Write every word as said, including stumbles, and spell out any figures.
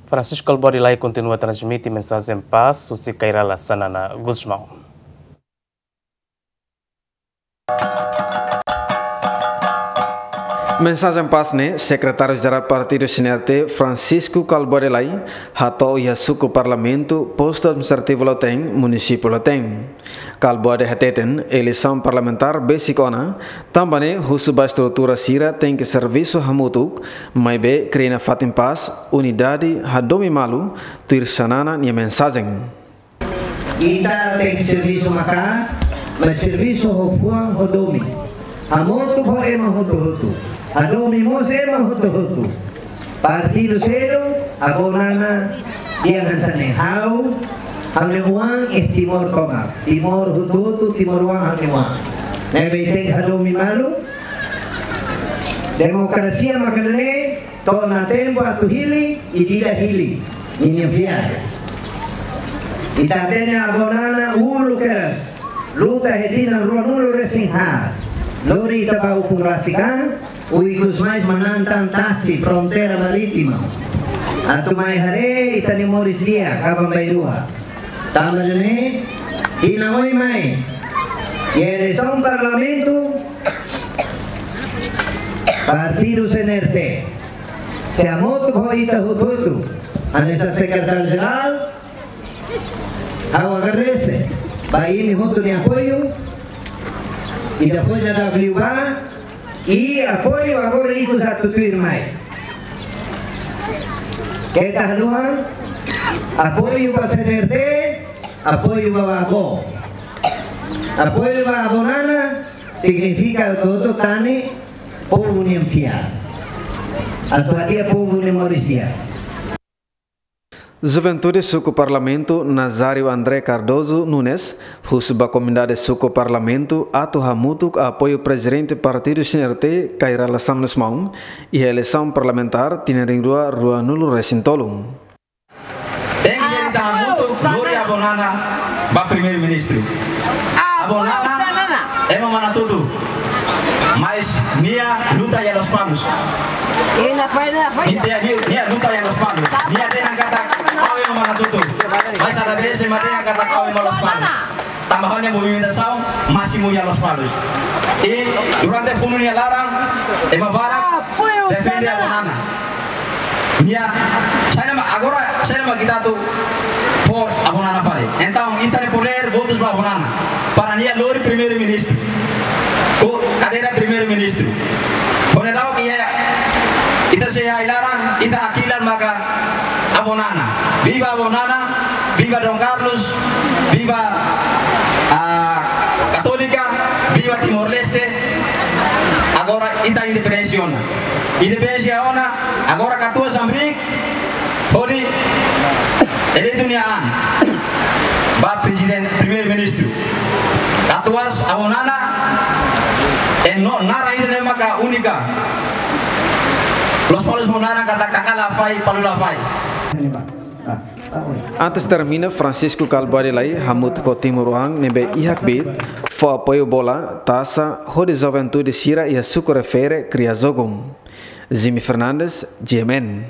Francisco Kalbuadi Lay kontinua transmite mensajen pás husi Kay Rala Xanana Gusmão. Mensajen pás ne'e Sekretáriu Jerál Partidu C N R T, Francisco Kalbuadi Lay, hato'o iha suku Parlamentu, Postu Administrativu Lautém, Munisípiu Lautém. Kalbuadi hateten, eleisaun parlamentár besik ona, tanba ne'e husu ba estrutura sira tenke servisu hamutuk, maibé kria nafatin pás, unidade, hadomi malu, tuir Xanana nia mensajen. Ita tenke servisu maka'as, mas servisu ho fuan ho domin. Hamutuk ho ema hotu-hotu. Hadomi mós ema hotu-hotu. Partidu seluk, avó Nana, dehan hanesan ne'e: ha'u, ha'u-nia oan iha Timor tomak. Timor hotu-hotu, timoroan ha'u-nia oan. Ne'ebé tenke hadomi malu. Demokrasia maka ne'e, to'o ona tempu atu hili, ida-idak hili, ninia fiar. Ita hatene avó Nana uluk kedas luta iha tinan ruanulu-resin-haat. Lori ita ba ukun rasik an, ikus mai manán tan tasi fronteira marítima. Atu mai haree ita-nia moris di'ak kaban bainrua. Tanba ne'e, iha ne'e mai, iha eleisaun Parlamentu, Partidu C N R T, sei hamutuk ho ita hotu-hotu, hanesan Sekretáriu Jerál, ha'u agradese ba imi hotu nia apoiu, ita foin dadauk liubá, i apoiu agora ikus atu tuirmai. Keta haluha, apoiu ba C N R T, apoiu ba avó. Apoiu ba avó Nana signifika atu tane povu nian fiar. Atu hadi'a povu nia moris di'ak. Juventude Suku Parlamentu, Nazário André Cardoso Nunes, husu ba komunidade suku Parlamentu atu hamutuk apoiu Prezidente Partidu C N R T, Kay Rala Xanana Gusmão, iha eleisaun parlamentár tinan rihun rua ruanulu-resin-tolu. Tenke ita hamutuk lori avó Nana ba Primeiru-Ministru. Avó Nana, ema manatutu. Mas nia luta iha Lospalos. Nia, nia, nia luta iha Lospalos. Nia dehan katak ha'u ema manatutu. Mas ada vez ema dehan katak ha'u ema Lospalos. Tanba ha'u-nia movimentasaun másimu iha Lospalos. I durante funu nia laran, ema barak defende avó Nana. Nia, saida mak, agora, saida mak ita atu fó avó Nana fali. Entaun, ita-nia podér, votus ba avó Nana. Para nia lori Primeiru-Ministru. Ho kadeira Primeiru-Ministru. Ho ne'e daudaun iha, ita sei iha ai-laran, ita hakilar maka avó Nana. Viva avó Nana, viva Dom Carlos, viva, ah, Katólika, viva Timor-Leste. Agora ita independénsia ona. Independénsia ona, agora katuas hamriik, hodi eleitu nia an ba Prezidente, Primeiru-Ministru. Katuas avó Nana, e no, naran ida-ne'e maka únika. Lospalos nia naran katak Kaka Lafai, Palu Lafai. Antes termina, Francisco Kalbuadi Lay hamutuk ho timoroan ne'ebé iha kbiit, fó apoiu bola, tasa, hodi juventude sira iha suku refere kria jogu. Jimmy Fernandes, G M N.